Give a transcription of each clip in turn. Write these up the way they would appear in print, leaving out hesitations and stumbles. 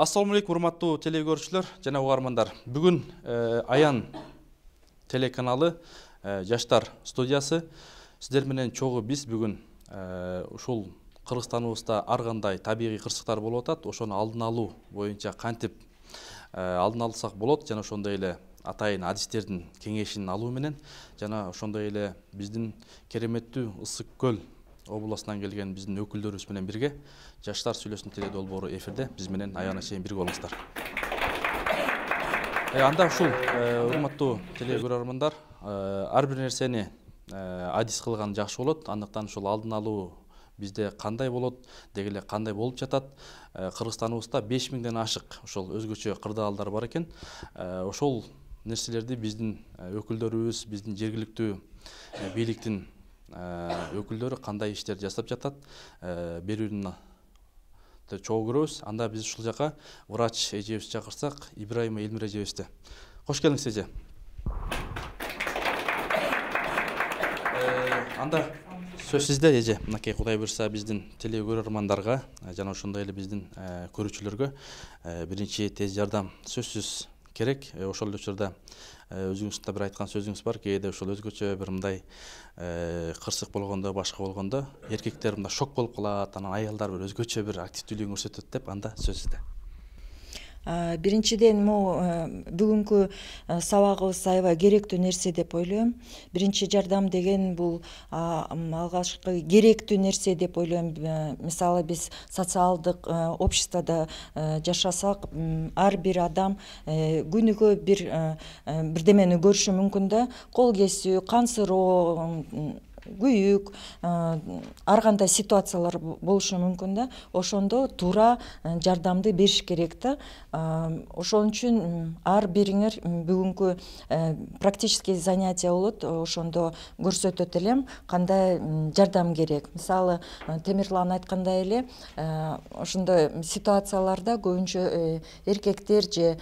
Ассаламу алейкум, урматтуу телекөрүүчүлөр жана угармандар. Бүгүн Аян телеканалы Жаштар студиясы сиздер менен чогуу биз бүгүн ушул Кыргызстаныбызда ар кандай табигый кырсыктар болуп атат, ошону алдын алуу боюнча кантип алдын алсак болот жана ошондой эле атайын адистердин кеңешин алуу менен жана ошондой эле биздин кереметтүү Ысык Көл областынан келген биздин өкүлдөрүбүз менен бирге Жаштар сүйлөсүн теле долбоору эфирде биз менен аягына чейин бирге болуңуздар. Анда ушул урматтуу теле көрөрмандар, ар бир нерсени адис кылган жакшы болот. Андыктан ушул алдын алуу бизде кандай болот, деги эле кандай болуп жатат. Кыргызстаныбызда 5000ден ашык ошол өзгөчө кырдаалдар бар экен. Ошол нерселерди биздин өкүлдөрүбүз, биздин жергиликтүү бийликтин өкүлдөрү кандай иштерди жасап жатат, берүүнү чогуу көрөбүз. Анда биз ушул жака врач эжебизди чакырсак, Ибраима Элмир эжебизди. Кош келиңиз эже. Анда сөз сизде эже. Мынакей Кудай буйрса биздин теле көрөрмандарга жана ошондой эле биздин көрүүчүлөргө биринчи тез жардам сөзсүз керек. Ошол эле учурда өзүңүздүн да бир айткан сөзүңүз бар. Кээде ошол өзгөчө бир мындай кырсык болгондо, башка болгондо эркектер мындай шок болуп калат, анан аялдар бир өзгөчө бир активдүүлүгүн көрсөтөт деп, анда сөз сизде. Биринчиден бүгүнкү сабагыбыз аябай керектүү нерсе деп ойлойм. Биринчи жардам деген бул алгачкы керектүү нерсе деп ойлойм. Мисалы биз социалдык обществодо жашасак, ар бир адам күнүгө бирдемени көрүшү мүмкүн да. Кол кесүү, кан сыроо, күйүк, ар кандай ситуациялар болушу мүмкүн да. Ошондо туура жардамды бериш керек да. Ошон үчүн ар бириңер бүгүнкү практический занятия болот. Ошондо көрсөтөт элем кандай жардам керек. Мисалы, Темирлан айткандай эле, ошондой ситуацияларда көбүнчө эркектер же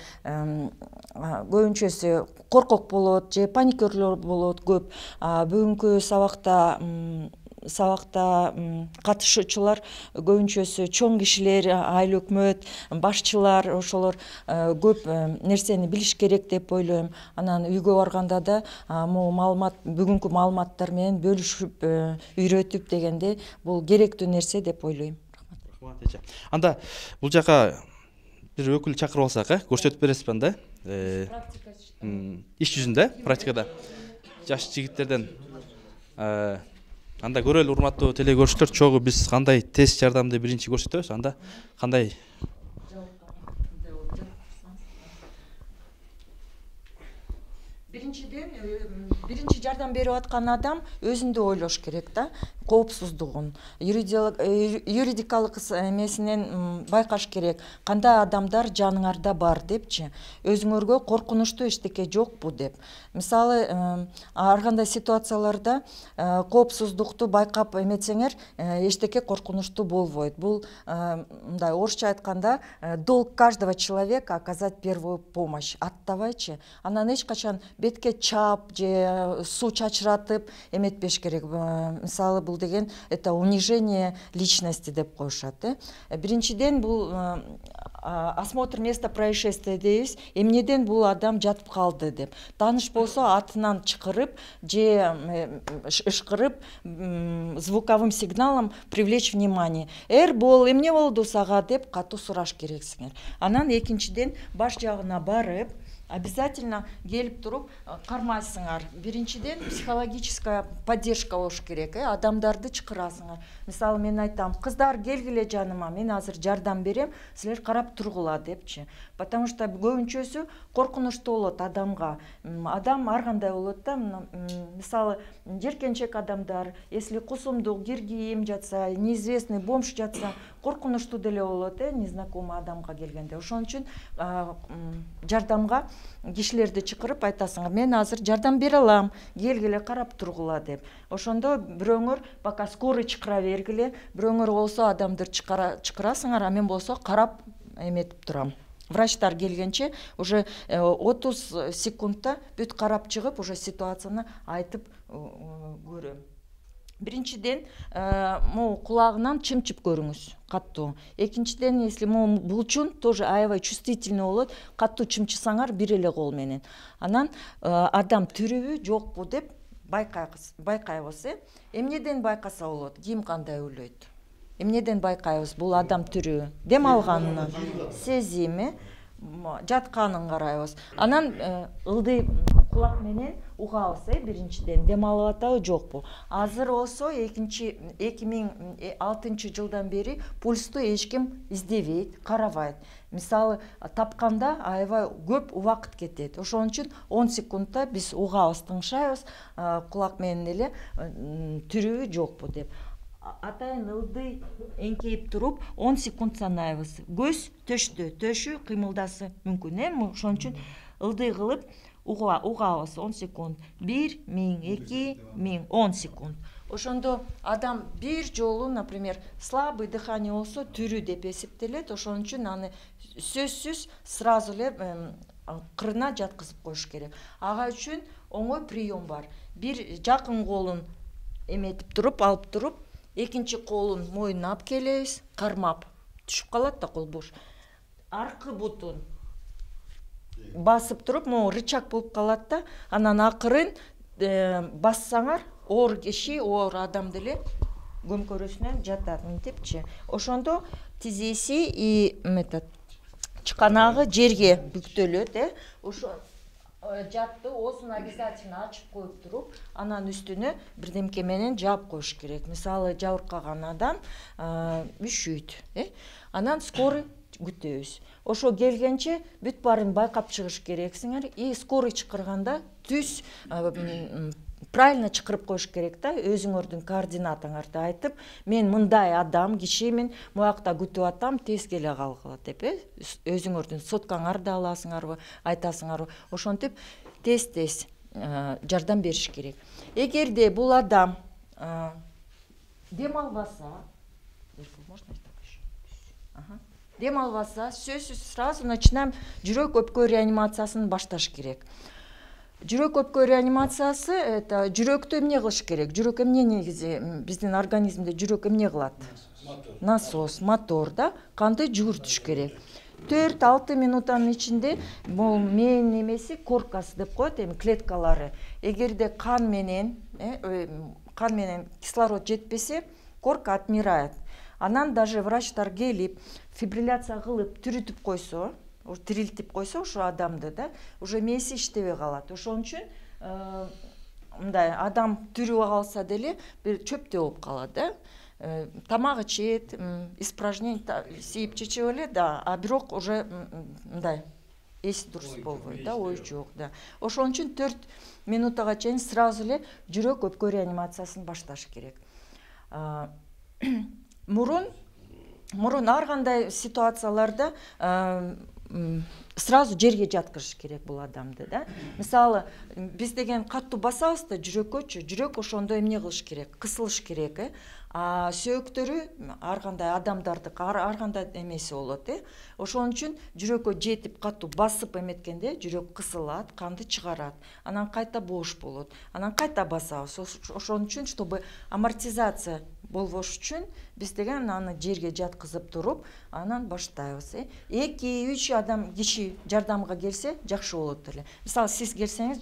көбүнчөсү коркок болот же паникерлор болот көп. Бүгүнкү сабакта катышуучулар көбүнчөсү чоң кишилер, айыл өкмөт, башчылар, ошолор көп нерсени билиш керек деп ойлойм. Анан үйгө барганда да бүгүнкү маалыматтар менен бөлүшүп, үйрөтүп дегенде бул керектүү нерсе деп ойлойм. Рахмат эже. Анда бул жака бир өкүл чакырып алсак, көрсөтүп бересизби анда? Иш жүзүндө, практикада жаш жигиттерден анда көрөлү, урматтуу теле көрүүчүлөр, чогуу биз кандай тест жардамды биринчи көрсөтөбүз, анда кандай биринчи жардам берип аткан адам өзүндү ойлош керек да, коопсуздугун, юридикалык эмесинен байкаш керек. Кандай адамдар жаныңарда бар депчи, өзүңөргө коркунучтуу эчтеке жокпу деп. Мисалы, ар кандай ситуацияларда коопсуздукту байкап эметсеңер, эчтеке коркунучтуу болбойт. Бул мындай орусча айтканда долг каждого человека оказать первую помощь. Аттабайчы, анан эч качан бетке чап же суу чачыратып эметпеш керек. Мисалы, бул деген это унижение личности деп коюшат. Биринчиден бул осмотр места происшествия дейбиз. Эмнеден бул адам жатып калды деп. Тааныш болсо атынан чакырып же ышкырып, звуковым сигналом привлечь внимание. Бол, эмне болду сага деп катуу сураш керексиңер. Анан экинчиден баш жагына барып, обязательно келип туруп кармайсыңар. Биринчиден психологическая поддержка болуш керек. Адамдарды чакырасыңар. Мисалы, мен айтам, кыздар келгиле жаныма, мен азыр жардам берем, силер карап тургула депчи. Потому что көбүнчөсү коркунучтуу болот адамга. Адам ар кандай болот да. Мисалы, жеркенчек адамдар, если кусумдук, киргиим жатса, неизвестный бомж жатса, коркунучтуу деле болот, незнакомый адамга келгенде. Ошон үчүн жардамга кишилерди чакырып айтасыңар, мен азыр жардам бере алам, келгиле карап тургула деп. Ошондо бирөөңөр пока скорый чакыра бергиле, бирөөңөр болсо адамды чакырасыңар, а мен болсо карап эметип турам. Врачтар келгенче уже 30 секундта бүт карап чыгып, уже ситуацияны айтып көрөм. Биринчиден, могу кулагынан чымчып көрүңүз каттуу. Экинчиден, если могу булчун тоже аябай чувствительный болот, каттуу чымчысаңар бир эле кол менен. Анан адам тирүүбү жокпу деп байкайбыз. Эмнеден байкаса болот? Ким кандай ойлойт? Эмнеден байкайбыз бул адам тирүү? Дем алганынан, сезими, жатканын карайбыз. Анан ылдый кулак менен угабыз, биринчиден дем алып атабы жокпу. Азыр болсо 2006 жылдан бери пульсту эч ким издебейт, карабайт. Мисалы тапканда аябай көп убакыт кетет. Ошон үчүн 10 секундта биз угабыз, тыңшайбыз, кулак менен эле тирүүбү жокпу деп. Атайын ылдый эңкейип туруп 10 секунд санайбыз. Көз төшү кыймылдасы мүмкүн, ошон үчүн ылдый кылып угабыз 10 секунд. 1 1000, 2 1000, 10 секунд. Ошондо адам бир жолу, например, слабый дыхание болсо тирүү деп эсептелет. Ошон үчүн аны сөзсүз сразу эле кырына жаткызып коюш керек. Ага үчүн оңой прием бар. Бир жакын колун эметип туруп, алып туруп, экинчи колун мойнуна алып келебиз, кармап түшүп калат да кол бош. Аркы бутун басып туруп, могу рычаг болуп калат да, анан акырын бассаңар, оор киши, оор адам деле көмкөрөсүнөн жатат, мынтипчи. Ошондо тизеси и чыканагы жерге бүктөлөт, ошо жатты, оозун обязательно ачып коюп туруп, анан үстүнө бирдемке менен жаап коюш керек. Мисалы жабыркаган адам үшүйт, анан скорый күтөбүз. Ошо келгенче бүт баарын байкап чыгыш керексиңер, и скорый чакырганда түз правильно чакырып коюш керек да, өзүңөрдүн координатаңарды айтып, мен мындай адам, киши мен буякта күтүп атам, тез келе калгыла деп, өзүңөрдүн соткаңарды аласыңарбы, айтасыңарбы, ошентип тез жардам бериш керек. Эгерде бул адам дем албаса, сөзсүз сразу начинаем жүрөк өпкө реанимациясын башташ керек. Жүрөк өпкө реанимациясы это жүрөктү эмне кылыш керек? Жүрөк эмне негизи биздин организмде жүрөк эмне кылат? Насос, мотор да, канды жүгүртүш керек. 4-6 минуттан ичинде бул мээң немеси коркасы деп коет, клеткалары. Эгерде кан менен кислород жетпесе, корка отмирает. Анан даже врачтар келип, фибрилляция кылып, тирилтип койсо, ошо адамды да, уже мээси иштебей калат. Ошон үчүн мындай адам тирүү калса деле бир чөптөй болуп калат, да. Тамак ичет, испражнение сейип чечип эле, да, а бирок уже мындай эси дурус болбойт, да, ой жок, да. Ошон үчүн 4 минуттага чейин сразу эле жүрөк өпкө реанимациясын башташ керек. Мурун ар кандай ситуацияларда сразу жерге жаткырыш керек бул адамды, да. Мисалы, биз деген каттуу басабыз да жүрөккөчү, жүрөк ошондо эмне кылыш керек? Кысылыш керек, А сөөктөрү ар кандай адамдардык ар кандай эмеси болот, Ошон үчүн жүрөккө жетип каттуу басып эметкенде жүрөк кысылат, канды чыгарат. Анан кайта бош болот. Анан кайта басабыз. Ошон үчүн, чтобы амортизация болбош үчүн биз деген аны жерге жаткызып туруп, анан баштайбыз. 2-3 адам киши жардамга келсе жакшы болот эле. Мисалы, сиз келсеңиз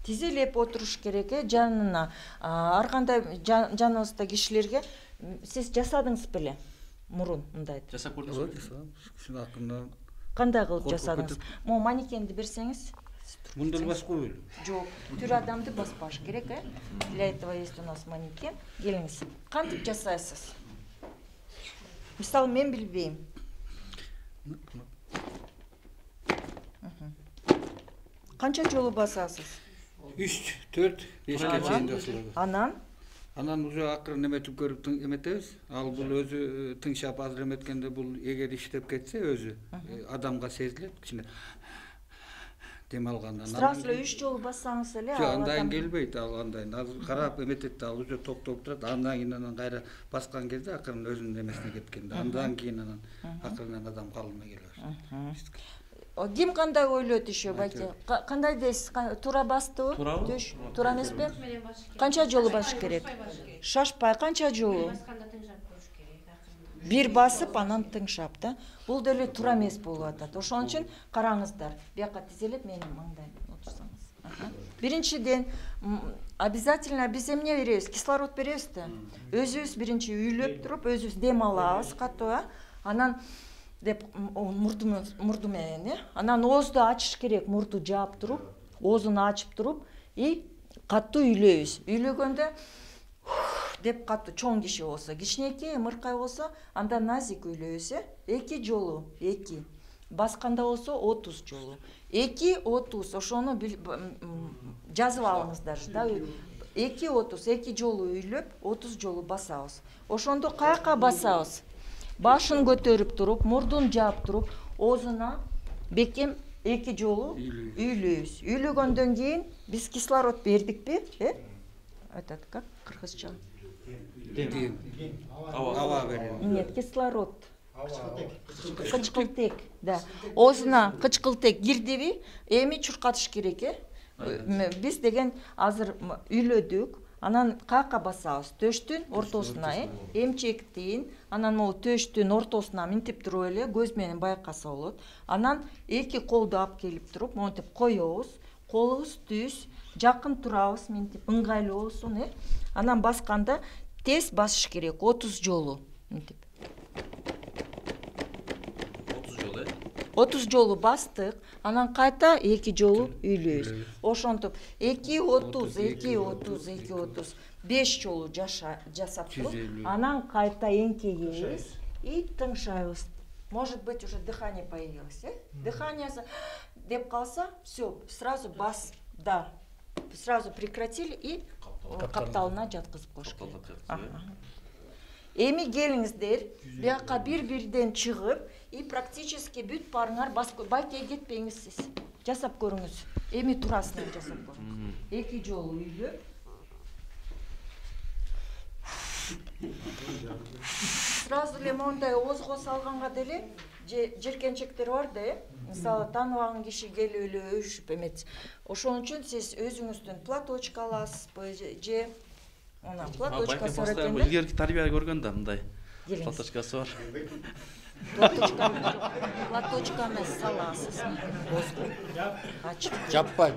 тизелеп отуруш керек, жанына. Ар кандай жаныбызда кишилерге сиз жасадыңыз беле? Мурун мындай. Жасап көрдүңүзбү? Жасадым. Акырында кандай кылып жасадыңыз? Могу манекенди берсеңиз. Мындай баскы беле? Жок, тир адамды баспаш керек, Для этого есть у нас манекен. Келиңиз. Кантип жасайсыз? Мисалы, мен билбейм. Канча жолу басасыз? 3, 4, 5ке чейин жасалат. Анан уже акырын эметип көрүп эметебиз. Ал бул өзү тыңшап азыр эметкенде бул эгер иштеп кетсе өзү адамга сезилет, кичине дем алгандан. Сразу 3 жолу бассаңыз эле ал андай келбейт, ал андай. Азыр карап эметет да, ал уже токтоп турат. Андан кийин анан кайра баскан кезде акырын өзүнүн эмесине кеткенде, андан кийин анан акырын адам калыбына келе баштайт. Ким кандай ойлойт еще, байке? Кандай дейсиз? Туура бастыбы? Туурабы? Төш, туура эмеспи? Канча жолу басыш керек? Шашпай канча жолу? Бир басып, анан тыңшап да. Бул деле туура эмес болуп атат. Ошон үчүн караңыздар. Бияка тизелеп менин маңдайымда отурсаңыз. Биринчиден, обязательно биз эмне беребиз? Кислород беребиз да. Өзүбүз биринчи үйлөп туруп, өзүбүз дем алабыз катуу, анан деп мурду менен, анан оозду ачыш керек, мурду жаап туруп, оозун ачып туруп, и катуу үйлөйбүз. Үйлөгөндө деп катуу чоң киши болсо, кичинекей ымыркай болсо, анда назик үйлөйбүз, 2 жолу, 2. Басканда болсо 30 жолу. 2-30, ошону жазып алыңыздар да. 2-30, 2 жолу үйлөп, 30 жолу басабыз. Ошондо каяка басабыз? Башын көтөрүп туруп, мурдун жаап туруп, оозуна бекем 2 жолу үйлөйбүз. Үйлөгөндөн кийин биз кислород бердикпи? Айтат как кыргызча? Дем. Ава беребиз. Нет, кислород. Кычкылтек, да. Оозуна кычкылтек кирдиби? Эми чуркатыш керек, Биз деген азыр үйлөдүк. Анан каяка басабыз? Төштүн ортосуна, эмчектин, анан могу төштүн ортосуна минтип туруп эле көз менен байкаса болот. Анан 2 колду алып келип туруп, монтип коебуз. Колубуз түз, жакын турабыз, минтип ыңгайлуу болсун, Анан басканда тез басыш керек, 30 жолу, минтип. 30 жолу бастык, анан кайта 2 жолу үйлөйбүз. Ошентип 2-30, 5 жолу жасап туруп, анан кайта эңкейебиз и тыңшайбыз. Может быть, уже дыхание появилось, Дыхание деп калса, все, сразу бас, да. Сразу прекратили и капталына жаткызып коюш керек. Эми келиңиздер, бияка бир-бирден чыгып, и практически бүт барыңар байке кетпеңиз сиз. Жасап көрүңүз. Эми турасынан жасап көрүңүз. 2 жолу үйлөп. Сразу эле мондай оозго салганга деле жеркенчектер бар да, мисалы тааныбаган киши келип эле өшүп эмет. Ошон үчүн сиз өзүңүздүн платочка аласызбы же Она платочкасы бар экен. Илгерки тарбия көргөн да мындай. Платочкасы бар. Платочка эмес саласыз. Ачып. Жаппай.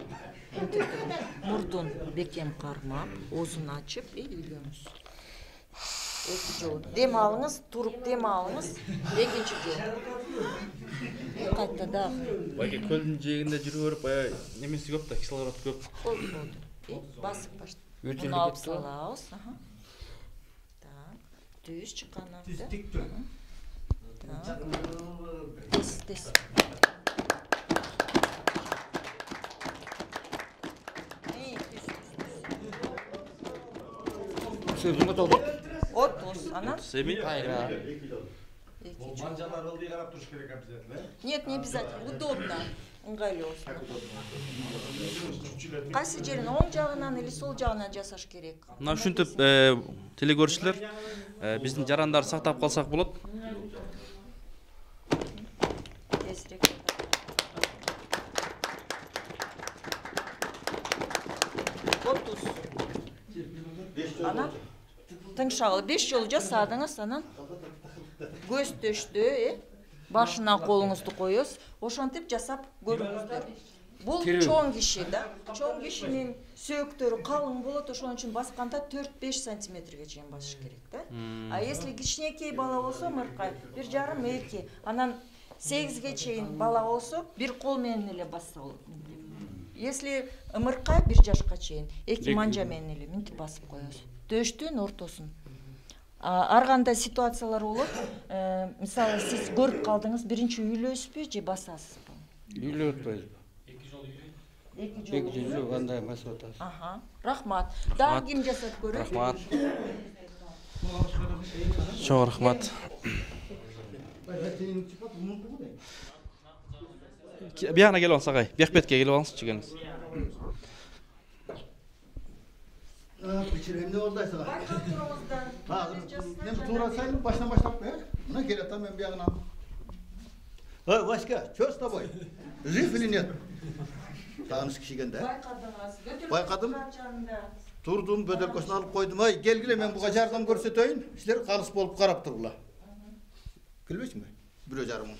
Мурдун бекем кармап, оозун ачып и үйлөнүз. 2 жолу. Дем алыңыз, туруп дем алыңыз. 2-чи жолу. Кайта да. Байке көлдүн жээгинде жүрүп көрүп, баягы немеси көп да, кислород көп. Болду. Басып баштап. Bunu alıp salağız. Tak. Düz çıkanlar. Düz dik dön. Tak. Des. Sözümü doldur. 30. Ana? Semi? Hayır. Манжалар ылдый карап туруш керек обязательно. Нет, не обязательно. Удобно. Ыңгайлуу. Кайсы жерин оң жагынан или сол жагынан жасаш керек? Мына ушинтип телекөрүүчүлөр биздин жарандарды сактап калсак болот. Тезирээк. Ана тыңшагыл 5 жолу жасадыңыз, анан көз төштү, башына колуңузду коёсуз. Ошентип жасап көрүңүздөр. Бул чоң киши да. Чоң кишинин сөөктөрү калың болот, ошон үчүн басканда 4-5 сантиметрге чейин басыш керек да. А если кичинекей бала болсо, мыркай 1,5-2, анан 8ге чейин бала болсо, бир кол менен эле басса болот. Если ымыркай 1 жашка чейин 2 манжа менен эле минтип басып коесуз. Төштүн ортосун. Ар кандай ситуациялар болот. Мисалы сиз көрүп калдыңыз, биринчи үйлөйсүзбү же басасызбы? Үйлөп атпайбызбы? 2 жолу кандай басып атасыз? Рахмат. Дагы ким жасап көрөт? Рахмат. Чоң рахмат. Бияна келип алсак ай. Бияк бетке келип алыңызчы келиңиз. Пичиремде олдайсың. Мен туура сайын башынан баштап коём. Мына келатам мен биягынан. Васька, что с тобой? Жив или нет? Тааныш кишигенде. Байкадым. Турдум, бөтөлкөсүн алып койдум. Ай, келгиле, мен буга жардам көрсөтөйүн. Силер калыс болуп карап тургула. Келбейсиңби? 1,5 мың.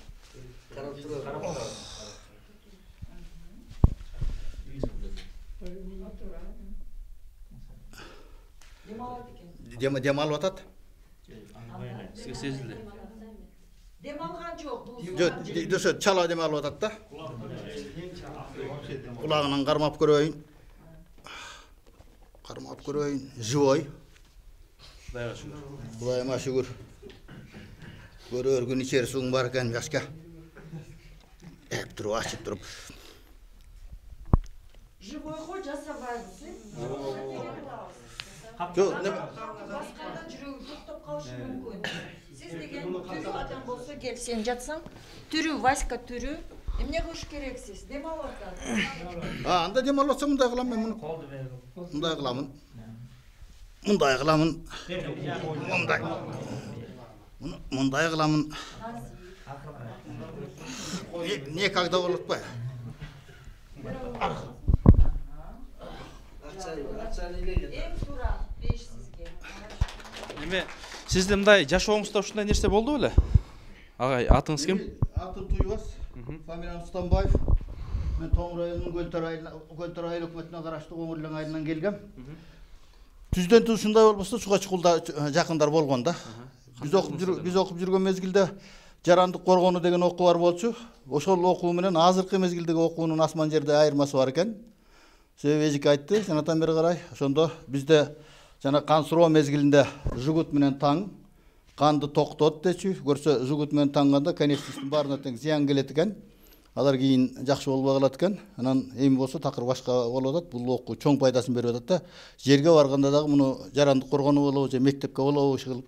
Карап тургула. Демалып атат? Сизге сезилди. Дем алган жок. Жок, чала демалып атат да. Кулагынан кармап көрөйүн. Кармап көрөйүн. Живой. Кудайга шүгүр. Кудайыма шүгүр. Көрөр күн ичер суң бар экен, Васька. Эп туруп, ачып туруп. Живой го жасабайбыз, Жок, басканда жүрөгү токтоп калышы мүмкүн. Сиз деген тирүү адам болсо кел, сен жатсаң, тирүү, Васька тирүү. Эмне кылыш керексиз? Дем алып атат. Анда дем алып атсам мындай кылам мен муну. Мындай кыламын. Мындай кыламын. Мындай. Мындай кыламын. Не когда болот па? Эң туура 5 сизге. Эми сизде мындай жашооңузда ушундай нерсе болду беле? Агай, атыңыз ким? Атым Туйбас. Фамилиям Станбаев. Мен Тоң районунун Көлтөр айыл өкмөтүнө караштуу Оңурлең айылынан келгем. Түздөн түз ушундай болбосо суга чыкууда жакындар болгон да. Биз окуп жүргөн мезгилде жарандык коргону деген окуу бар болчу. Ошол окуу менен азыркы мезгилдеги окуунун асман жерде айырмасы бар экен. Себеби эжик айтты, жанатан бери карай. Ошондо бизде жана кан суроо мезгилинде жугут менен таң канды токтот дечи. Көрсө жугут менен таңганда конечностьтун баарына тең зыян келет экен. Алар кийин жакшы болбой калат экен. Анан эми болсо такыр башка болуп атат. Бул окуу чоң пайдасын берип атат да. Жерге барганда дагы муну жарандык коргону болобу же мектепке болобу, ушул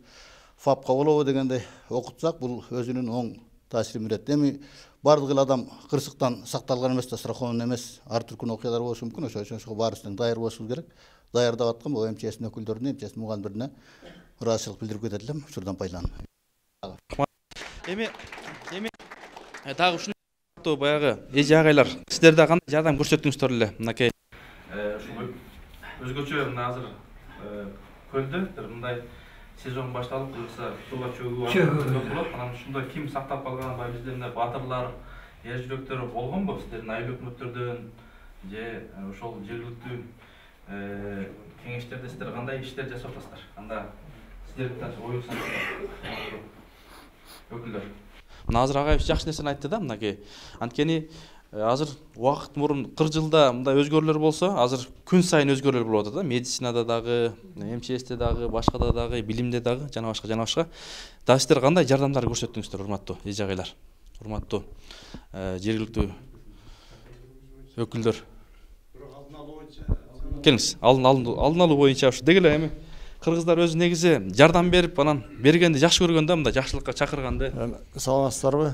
ФАПка болобу дегенде окутсак, бул өзүнүн оң таасирин берет. Эми бардык эле адам кырсыктан сакталган эмес да, страхован эмес. Ар түркүн окуялар болушу мүмкүн. Ошого баарысынан даяр болушубуз керек. Даярдап аткан бул МЧС өкүлдөрүнө, МЧС мугалимдерине ыраазычылык билдирип кетет элем. Ушурдан пайдаланып. Эми дагы ушуну баягы эже агайлар, сиздер да кандай жардам көрсөттүңүздөр эле? Мынакей ушул өзгөчө мына азыр көлдө мындай сезон башталып, кыргызда сууга чөгүү болот. Анан ушундай ким сактап калган, баягы бизде мындай батырлар, эр жүрөктөр болгонбу сиздердин айыл өкмөттөрдөн же ошол жергиликтүү кеңештерде сиздер кандай иштер жасап атасыздар? Кандай сиздердин оюңуздар өкүлдөр? Мына азыр агайыбыз жакшы нерсени айтты да, мынакей. Анткени азыр убакыт мурун 40 жылда мындай өзгөрүүлөр болсо, азыр күн сайын өзгөрүүлөр болуп атат да. Медицинада дагы, МЧСте дагы, башкада дагы, билимде дагы, жана башка. Да сиздер кандай жардамдар көрсөттүңүздөр, урматтуу эже агайлар, урматтуу жергиликтүү өкүлдөр? Келиңиз, алдын алуу боюнча ушу деги эле эми кыргыздар өзү негизи жардам берип, анан бергенди жакшы көргөн да, мындай жакшылыкка чакырганды. Саламатсыздарбы?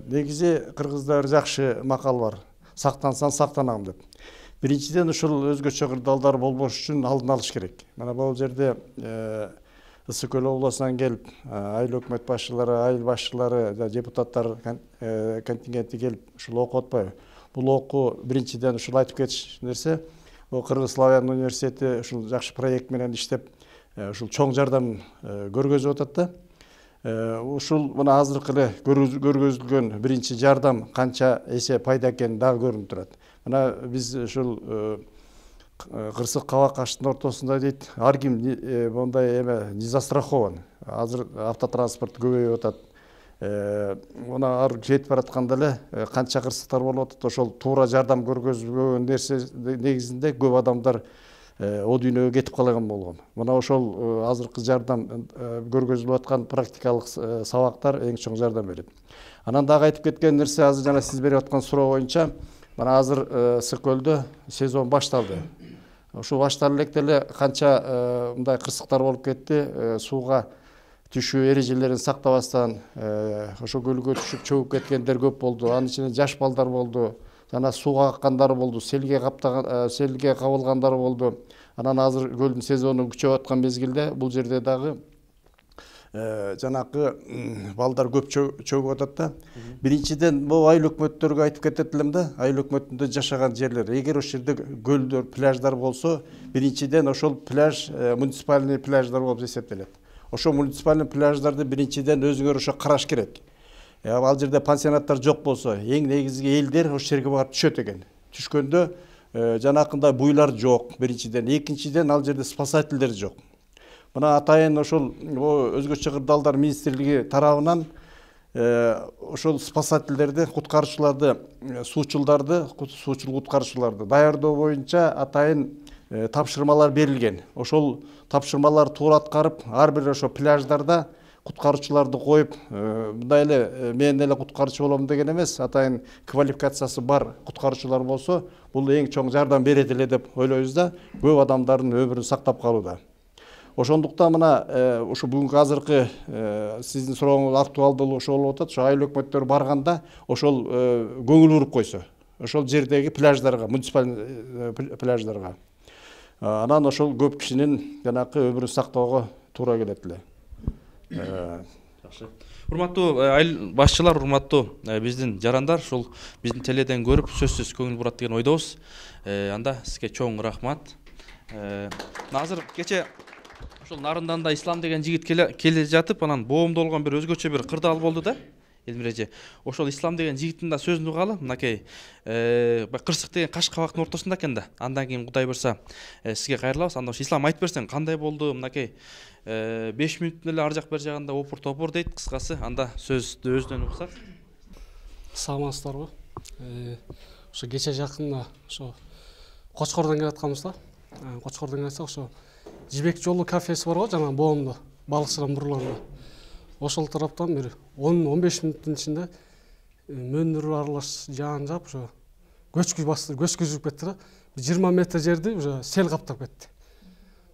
Негизи кыргыздар жакшы макал бар. Сактансаң сактанам деп. Биринчиден ушул өзгөчө кырдаалдар болбош үчүн алдын алыш керек. Мына бул жерде Ысык Көл облусунан келип, айыл өкмөт башчылары, айыл башчылары, депутаттар контингенти келип ушул окуп атпайбы? Бул окуу биринчиден ушул айтып кетиш нерсе. Кыргыз Славян университети ушул жакшы проект менен иштеп, ушул чоң жардам көргөзүп атат да. Ушул мына азыркы эле көргөзүлгөн биринчи жардам канча эсе пайда экени дагы көрүнүп турат. Мына биз ушул кырсык кабак аштын ортосунда дейт, ар ким мондай эме не застрахован. Азыр автотранспорт көбөйүп атат. Мына ар жетип баратканда эле канча кырсыктар болуп атат. Ошол туура жардам көргөзүлгөн нерсе негизинде көп адамдар о дүйнөгө кетип калган болгон. Мына ошол азыркы жардам көргөзүлүп аткан практикалык сабактар эң чоң жардам берет. Анан дагы айтып кеткен нерсе, азыр жана сиз берип аткан суроо боюнча, мына азыр Ысык Көлдө сезон башталды. Ушул башталып электе эле канча мындай кырсыктар болуп кетти, сууга түшүү эрежелерин сактабастан ошо көлгө түшүп чөгүп кеткендер көп болду. Анын ичинде жаш балдар болду, жана сууга аккандар болду, селге кабылгандар болду. Анан азыр көлдүн сезону күчөп аткан мезгилде бул жерде дагы жанакы балдар көп чөгүп атат да. Биринчиден бул айыл өкмөттөргө айтып кетет элем да, айыл өкмөтүндө жашаган жерлер. Эгер ошол жерде көлдөр, пляждар болсо, биринчиден ошол пляж муниципальный пляждар болуп эсептелет. Ошол муниципальный пляждарды биринчиден өзүңөр ошо караш керек. Ал жерде пансионаттар жок болсо, эң негизги элдер ошол жерге барып түшөт экен. Түшкөндө жанакындай буйлар жок, биринчиден. Экинчиден ал жерде спасательдер жок. Мына атайын ошол өзгөчө кырдаалдар министрлиги тарабынан ошол спасательдерди, куткаруучуларды, суучул куткаруучуларды даярдоо боюнча атайын тапшырмалар берилген. Ошол тапшырмалар туура аткарып, ар бир ошо пляждарда куткаруучуларды коюп, мындай эле мен эле куткаруучу болом деген эмес, атайын квалификациясы бар куткаруучулар болсо, бул эң чоң жардам берет эле деп ойлойбуз да, көп адамдардын өмүрүн сактап калууда. Ошондуктан мына ушу бүгүнкү азыркы сиздин сурооңуз актуалдуу ошол болуп атат. Ошо айыл өкмөттөр барганда ошол көңүл буруп койсо, ошол жердеги пляждарга, муниципаль пляждарга. Анан ошол көп кишинин жанакы өмүрүн сактоого туура келет эле. Жакшы. Урматтуу айыл башчылар, урматтуу биздин жарандар, ушул биздин теледен көрүп сөзсүз көңүл бурат деген ойдобуз. Анда сизге чоң рахмат. Азыр кече ошол Нарынданда Ислам деген жигит келе жатып, анан боомдолгон бир өзгөчө бир кырдаал болду да. Элмир эже, ошол Ислам деген жигиттин да сөзүн угалы. Мынакей кырсык деген каш кабактын ортосунда экен да. Андан кийин Кудай буйрса сизге кайрылабыз. Анда ошо Ислам айтып берсең кандай болду? Мынакей 5 мүнөттөн эле ар жак бер жагында опур-топур дейт кыскасы. Анда сөздү өзүнөн уксак. Саламатсыздарбы? Ошо кече жакында ошо Кочкордон келатканбыз да. Кочкордон келсек ошо Жибек жолу кафеси бар го, жана боомдо, балыкчылар бурларында. Ошол тараптан бир 10-15 мүнөттүн ичинде мөндүр аралаш жаан жаап, ошо көчкү басты, көчкү жүрүп кетти да. 20 метр жерди уже сел каптап кетти.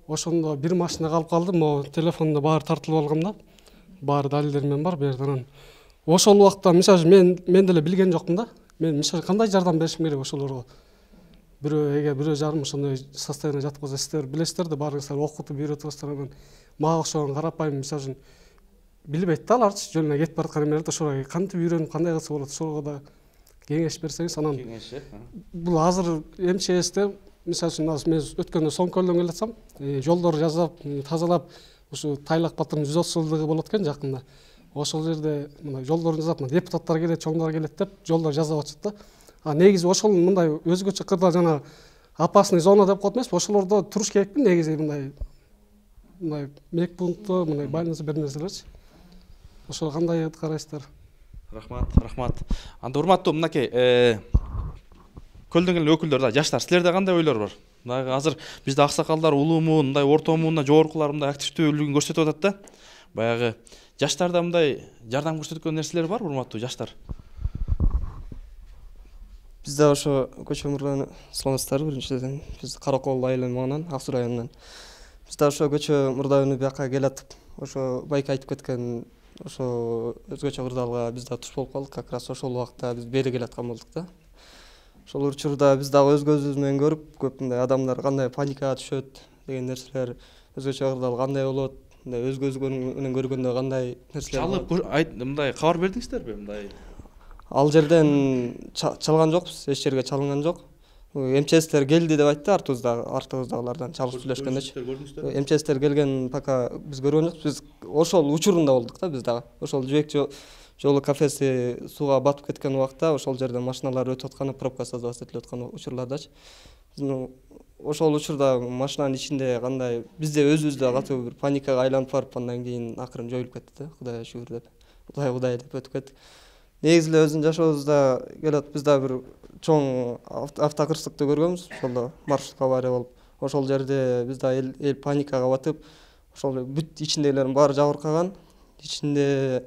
Ошондо бир машина калып калды, могу телефондо баары тартылып алгам да. Баары далилдермен бар берден. Ошол убакта мисалы мен деле билген жокмун да. Мен мисалы кандай жардам беришим керек ошолорго. Бирөө жарым ошондой состояние жатып калса, сиздер билесиздер да, баарыңыздар окутуп үйрөтүп анан мага окшогон карапайым мисалы үчүн билбейт да аларчы, жөн эле кетип бараткан эмелерди ошого кантип үйрөнүп кандай кылса болот, ошого да кеңеш берсеңиз. Анан бул азыр МЧСте мисалы үчүн мен өткөндө Соңкөлдөн келатсам, жолдорду жасап, тазалап, ушу Тайлак Батырдын 130 жылдыгы болот экен жакында. Ошол жерде мына жолдорду жасап, депутаттар келет, чоңдор келет деп жолдор жасап атышат да. Негизи ошол мындай өзгөчө кырдаал жана опасный зона деп коет эмеспи? Ошолордо туруш керекпи негизи, мындай мекпункту, мындай больница бир нерселерчи. Ошого кандай карайсыздар? Рахмат. Анда урматтуу мынакей көлдөн келген өкүлдөр да, жаштар, силерде кандай ойлор бар? Мына азыр бизде аксакалдар улуумун, мындай орто муунда жогоркулар мындай активдүүлүгүн көрсөтүп атат да. Баягы жаштарда мындай жардам көрсөткөн нерселер бар, урматтуу жаштар? Бизде ошо Көчө Мурданы саламатсыздарбы? Биринчиден биз Каракол айылынын маңынан, Ак Суу районунан. Бизде ошо Көчө Мурданы бияка келатып, ошо байка айтып кеткен ошо өзгөчө кырдаалга биз да туш болуп калдык. Как раз ошол убакта биз бери келаткан болдук да. Ошол учурда биз дагы өз көзүбүз менен көрүп, көп мындай адамдар кандай паникага түшөт деген нерселер, өзгөчө кырдаал кандай болот, мындай өз көзү менен көргөндө кандай нерселер. Чалып мындай кабар бердиңиздерби мындай? Ал жерден чалган жокпуз, эч жерге чалынган жок. МЧСтер келди деп айтты, артыбыздагылардан чалып сүйлөшкөндөчү. МЧСтер келген пока биз көргөн жокпуз. Биз ошол учурунда болдук да, биз дагы. Ошол Жибек жолу кафеси сууга батып кеткен убакта ошол жерден машиналар өтүп атканы, пробка создаваться этилип аткан учурлардачы. Ошол учурда машинанын ичинде кандай бизде өзүбүздө катуу бир паникага айланып барып, андан кийин акырын жоюлуп кетти да. Кудайга шүгүр деп. Кудай деп өтүп кеттик. Негизи эле өзүнүн жашообузда келет, биз да бир чоң автокырсыкты көргөнбүз. Ошолдо маршрутка авария болуп, ошол жерде биз да эл паникага батып, ошол бүт ичиндегилердин баары жабыркаган. Ичинде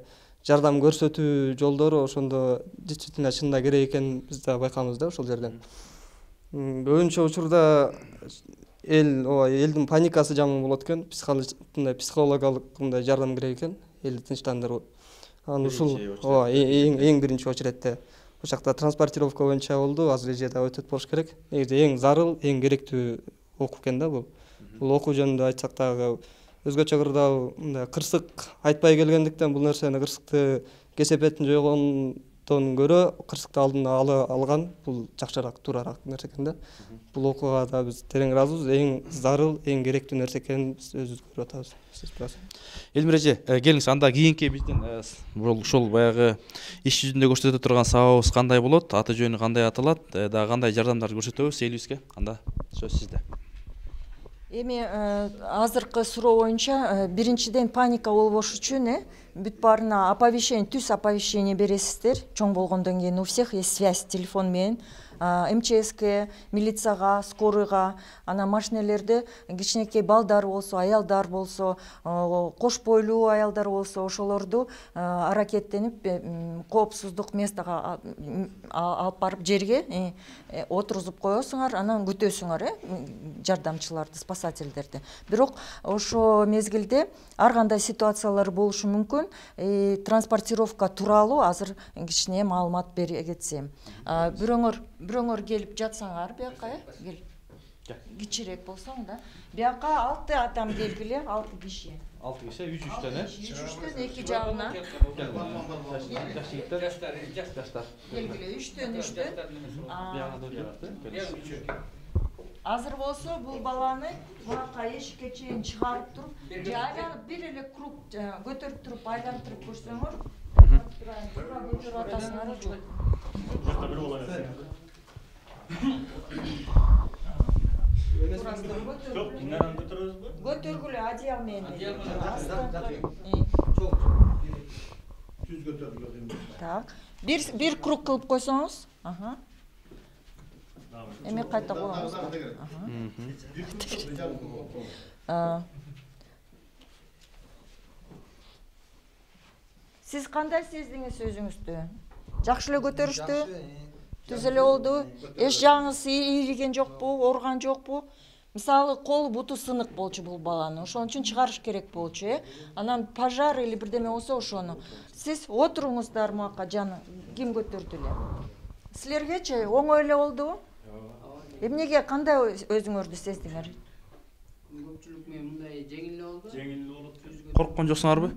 жардам көрсөтүү жолдору ошондо действительно чынында керек экенин биз да байкабыз да ошол жерден. Көбүнчө учурда элдин паникасы жаман болот экен, психологиялык мындай жардам керек экен, элди тынчтандыруу. Анан ушул эң биринчи очередте бул жакта транспортировка боюнча болду, азыр эже да өтөт болуш керек. Негизи эң зарыл, эң керектүү окуу экен да бул. Бул окуу жөнүндө айтсак дагы өзгөчө кырдаал мындай кырсык айтпай келгендиктен бул нерсени кырсыкты кесепетин жойгондон көрө кырсыкты алдын алган бул жакшыраак туурараак нерсе экен да. Бул окугада биз терең ыраазыбыз, эң зарыл, эң керектүү нерсе экенин биз өзүбүз көрүп атабыз. Элмир эже, келиңиз, анда кийинки биздин ушул баягы иш жүзүндө көрсөтө турган сабагыбыз кандай болот, аты жөнү кандай аталат, дагы кандай жардамдар көрсөтөбүз элибизге? Анда сөз сизде. Эми азыркы суроо боюнча биринчиден паника болбош үчүн бүт баарына оповещение, түз оповещение бересиздер. Чоң болгондон кийин у всех есть связь телефон менен. МЧСке, милицияга, скорыйга, ана машинелерде кичинекей балдар болсо, аялдар болсо, кош бойлуу аялдар болсо, ошолорду аракеттенип коопсуздук местого алып барып жерге отургузуп коесуңар, анан күтөсүңөр жардамчыларды, спасательдерди. Бирок ошо мезгилде ар кандай ситуациялар болушу мүмкүн. Транспортировка тууралуу азыр кичине маалымат бере кетсем. Бирөөңөр келип жатсаңар бияка, кел. Кичирээк болсоң да. Бияка 6 адам келгиле, 6 киши. 6 киши, 3-3төн, 3-3төн эки жагына. Жаштар. Келгиле 3-3төн. Азыр болсо бул баланы бунака эшикке чейин чыгарып туруп, айланып бир эле круг көтөрүп туруп, айлантырып көрсөңөр, көтөрүп атасыңар жок. Көтөргүлө одеял менен. Түз көтөрүлөт. Так. Бир круг кылып койсоңуз, эми кайта коебуз. Сиз кандай сездиңиз өзүңүздү? Жакшы эле көтөрүштү? Түз эле болду? Эч жагыңыз ийриген жокпу, ооруган жокпу? Мисалы, колу буту сынык болчу бул баланы. Ошон үчүн чыгарыш керек болчу, Анан пожар или бирдеме болсо ошону. Сиз отуруңуздар муака, жаны ким көтөрдү эле? Силергечи оңой эле болдубу? Эмнеге, кандай өзүңөрдү сездиңер? Көпчүлүк менен мындай жеңил эле болду. Жеңил эле болот. Корккон жоксуңарбы?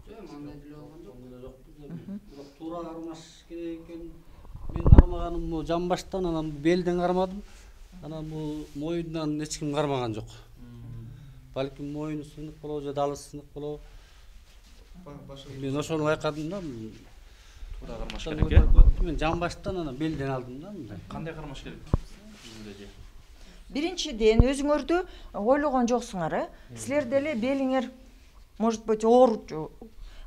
Жок, мындай деле болгон жок. Бирок туура кармаш керек экен. Мен кармаганым бул жамбаштан, анан белден кармадым. Анан бул моюндан эч ким кармаган жок. Балким моюну сынык болобу же далы сынык болобу. Мен ошону байкадым да. Туура кармаш керек, Мен жамбаштан, анан белден алдым да мындай. Кандай кармаш керек? Биринчиден өзүңөрдү ойлогон жоксуңар, Силер деле белиңер может быть ооручу.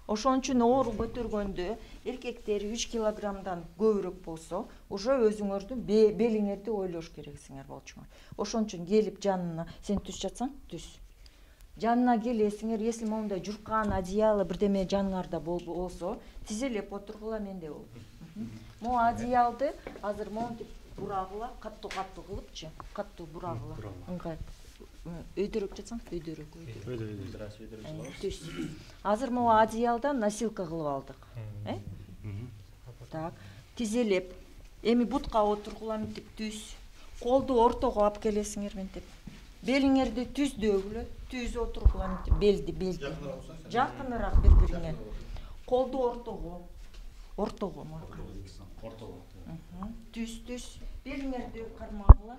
Ошон үчүн оору көтөргөндө эркектер 3 килограммдан көбүрөөк болсо, уже өзүңөрдүн белиңерди ойлош керексиңер болчуңар. Ошон үчүн келип жанына, сен түз жатсаң, түз. Жанына келесиңер, если мондай журкан, одеяло бирдеме жаныңарда болсо, тизелеп отургула, менде болду. Могу одеялды азыр монтип бурагыла, каттуу кылыпчы, каттуу бурагыла. Ыңгай. Өйдөрөк жатсаң, өйдөрөк. Түз. Азыр могу одеялдан носилка кылып алдык. Так, тизелеп, эми бутка отургула мынтип түз. Колду ортого алып келесиңер мынтип. Белиңерди түздөгүлө, түз отургула мынтип, белди. Жакыныраак бири-бириңе. Колду ортого. Ортого. Түз. Белиңерди кармагыла.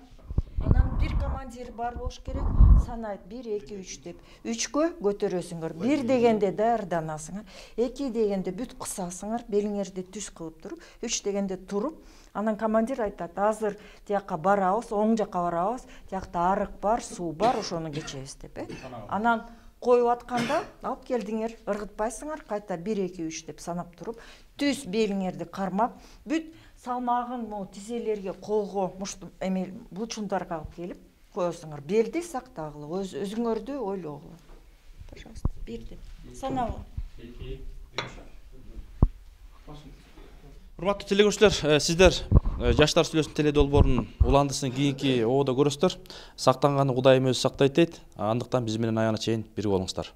Анан бир командир бар болуш керек, санайт 1, 2, 3 деп. 3кө көтөрөсүңөр. 1 дегенде даярданасыңар, 2 дегенде бүт кысасыңар, белиңерди түз кылып туруп, 3 дегенде туруп, анан командир айтат, азыр тияка барабыз, оң жакка барабыз, тиякта арык бар, суу бар, ошону кечебиз деп. Анан коюп атканда алып келдиңер, ыргытпайсыңар, кайта 1, 2, 3 деп санап туруп, түз белиңерди кармап, бүт салмагын тизелерге, колго, булчундарга алып келип коесуңар. Белди сактагыла, өзүңөрдү ойлогула. Пожалуйста, 1 деп санагыла. 2, 3. Урматтуу телекөрүүчүлөр, сиздер Жаштар сүйлөсүн теле долбоорунун уландысын кийинки ободо көрөсүздөр. Сактанганы Кудайым өзү сактайт дейт. Андыктан биз менен аягына чейин бирге болуңуздар.